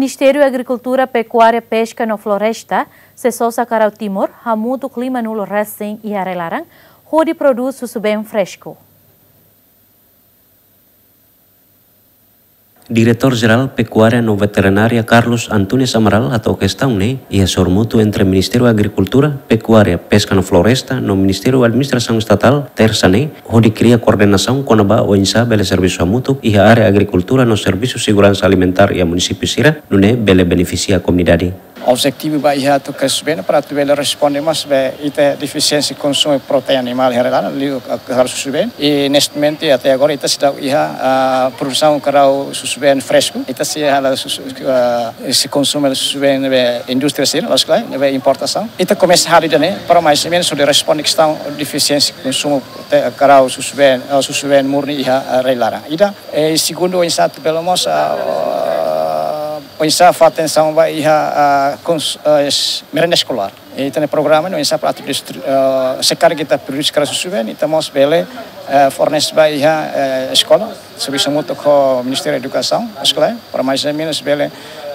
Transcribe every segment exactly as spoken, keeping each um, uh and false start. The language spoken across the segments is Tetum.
Ministériu Agrikultura, Pekuária, Peska no Floresta sei sosa karau Timor hamutuk limanulu resin iha rai-laran hodi prodús susubeen fresku. Diretór Jerál Pekuária no Veterinária Carlos Antunes Amaral hato'o kestaun ne'e iha sorumutu entre Ministériu Agrikultura, Pekuária, Peska no Floresta no Ministériu Administrasaun Estatál, Tersa ne'e, hodi kria koordenasaun kona-ba oinsá bele servisu hamutuk iha área agrikultura no servisu seguransa alimentár iha munisípiu sira, nune'e bele benefisia komunidade. Objetivu ba iha atu karau susubeen para atu bele responde mós ba ita defisiénsia konsumu proteína animál iha rai-laran, liu, eh, karau susubeen. I neste momento, até agora, ita seidauk iha, ah, produsaun karau susubeen fresku. Ita sei halo susu, ah, sei konsumu susubeen be indústria sira, loos ka lae, be importasaun. Ita komesa halo ida-ne'e, para mais ou menus hodi responde kestaun defisiénsia konsumu te-, karau susubeen, ah, susubeen murni iha, ah, rai-laran. Ida, eh, segundu, oinsá atu bele mós, ah, oinsá fó atensaun ba iha, ah, kons-, ah, es-, merenda eskolár. Ita-nia programa ne'e oinsá para atu distri-, ah, se karik ita prodús karau susubeen, ita mós bele, ah, fornese ba iha, ah, eskola, servisu hamutuk ho Ministériu Edukasaun, eskola, para mais ou menus bele,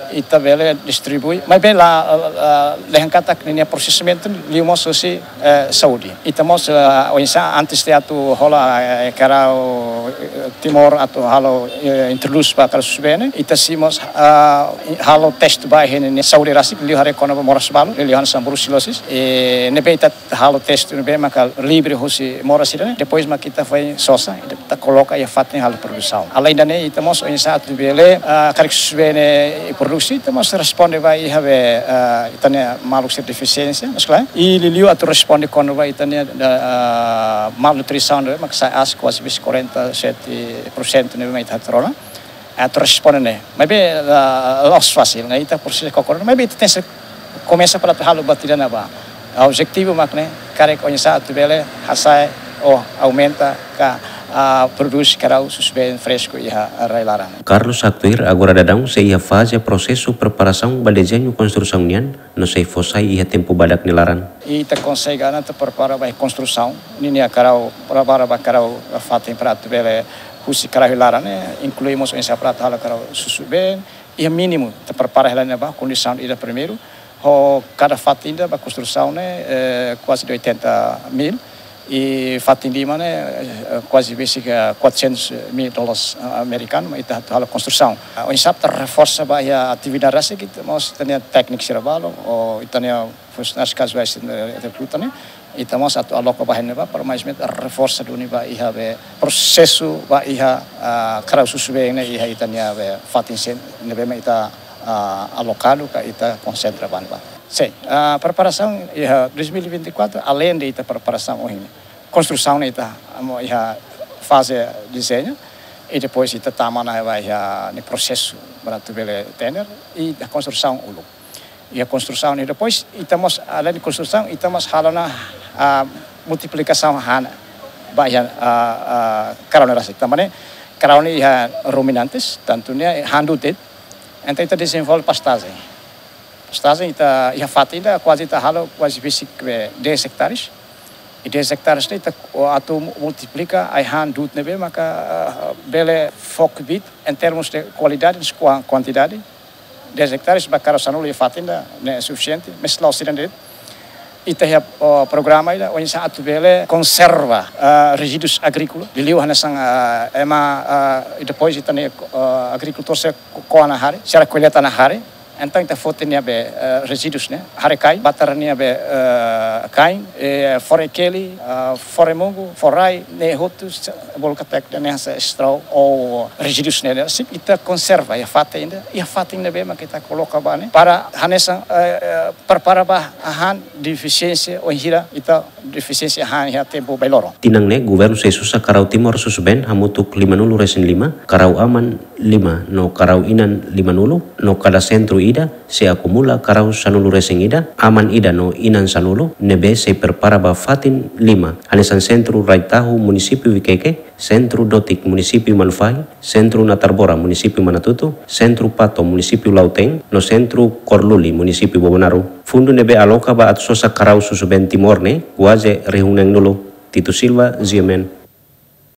ita bele distribui. Maibé la, ah, ah, dehan katak ninia prosesimentu liu mós husi, eh, saúde. Ita mós, eh, oinsá antes de atu hola, eh, karau, eh, Timor atu halo, eh, introdús ba karau susubeen ne'e, ita sei mós, ah, halo teste ba iha ninia saúde rasik, liu haree kona-ba moras balu, liu hanesan bruselosis, eh, ne'ebé ita halo teste ne'ebé maka livre husi moras sira-ne'e, depois mak ita foin sosa, ita koloka iha fatin halo produsaun. Além da ne'e, ita mós oinsá atu bele, ah, karik susubeen ne'e produksi, ita mós responde ba iha be, ah, ita-nia maluk sira defisiénsia, mas klaru. I liuliu atu responde kona-ba ita-nia, ah, malnutrisaun ne'ebé maka sai aas kuaze bis quarenta e sete por cento ne'ebé mak ita hatene ona. Atu responde ne'e. Maibé, ah, la'ós fasil, ne'e ita presiza kokorda, maibé ita tenke komesa para atu halo buat ida ne'ebá. Objetivu mak ne'e, karik oinsá atu bele hasa'e ou aumenta ka, ah, prodús karau susubeen fresku iha rai-laran. Carlos haktuir agora daudaun sei iha faze prosesu preparasaun ba dezeñu konstrusaun nian, no sei fó sai iha tempu badak nia laran. Ita konsege ona atu prepara ba konstrusaun ninia karau, prepara ba karau fatin para atu bele husi karau iha laran ne'e, inklui mós oinsá para atu halo karau susubeen, iha mínimu, ita prepara hela ne'ebá, kondisaun ida primeiru, ho kada fatin ida ba konstrusaun ne'e, eh, kuaze oitenta mil, i fatin lima ne'e, eh, kuaze besik quatrocentos mil dólares, ah, amerikanu, mak ita atu halo konstrusaun. Ah, oinsá atu reforsa ba iha atividade rasik, ita mós ita-nia tékniku sira balu, ou ita-nia funsionáriu kazuál sira, eh, rekruta ne'e, ita mós atu aloka ba iha ne'ebá, para mais ou menus reforsa duni ba iha be prosesu ba iha, ah, karau susubeen ne'e iha ita-nia be fatin sira ne'ebé mak ita, ah, alokadu ka ita konsentra ba ne'ebá. Sin, ah, preparasaun iha dois mil e vinte e quatro, além de ita preparasaun ohin, konstrusaun ne'e ita amo iha faze dezeñu, i depois ita tama ona ba iha ne'e prosesu para atu bele tender, i konstrusaun uluk. Iha konstrusaun ne'e depois, ita mós, além de konstrusaun, ita mós halo ona, ah, multiplikasaun hahán ba iha, ah, ah, karau ne'e rasik. Tanba ne'e, karau ne'e iha ruminantes, tantu ne'e han du'ut de'it, entaun ita dezenvolve pastajen. Pastajen ita iha fatin ida, kuaze ita halo, kuaze besik be dez ektares. I dez ektares ne'e ita atu multiplika ai-han du'ut ne'ebé maka, ah, bele fó kbiit, em termos de kualidade, no kuan-, kuantidade. Dez ektares ba karau sanulu iha fatin ida ne'e sufisiente, mas la'ós ida de'it. Ita iha, oh, programa ida, oinsá atu bele konserva, ah, rezíduus agríkola, liuliu hanesan, ah, ema, ah, i depois ita-nia, ah, agrikultór sira ko-, ko'a ona hare, sira koleta ona hare, entaun ita foti nia be, eh, rezíduus ne'e, hare-kain, batar nia be, eh, kain, eh, fore-keli, eh, fore-mungu, fore-rai, ne'e hotu, se-, bolu katak ida-ne'e hanesan straw ou rezíduus ne'e, ne'e, se ita konserva iha fatin ida, iha fatin ne'ebé mak ita koloka ba ne'e, para hanesan, eh, eh, prepara ba hahán defisiénsia, wainhira ita defisiénsia hahán iha tempu bainhira loron. Tinan ne'e, governu sei sosa karau Timor susubeen hamutuk limanulu resin lima, karau aman lima no karau inan limanulu, no kada sentru ida sei akumula karau sanulu resin ida, aman ida no inan sanulu, ne'ebé sei prepara ba fatin lima, hanesan sentru Rai Tahu, munisípiu Viqueque, sentru Dotik, munisípiu Manufahi, sentru Natarbora, munisípiu Manatuto, sentru Pato, munisípiu Lautém, no sentru Korluli, munisípiu Bobonaro. Fundu ne'ebé aloka ba atu sosa karau susubeen Timor ne'e, kuaze rihun neenulu. Tito Silva, G M N,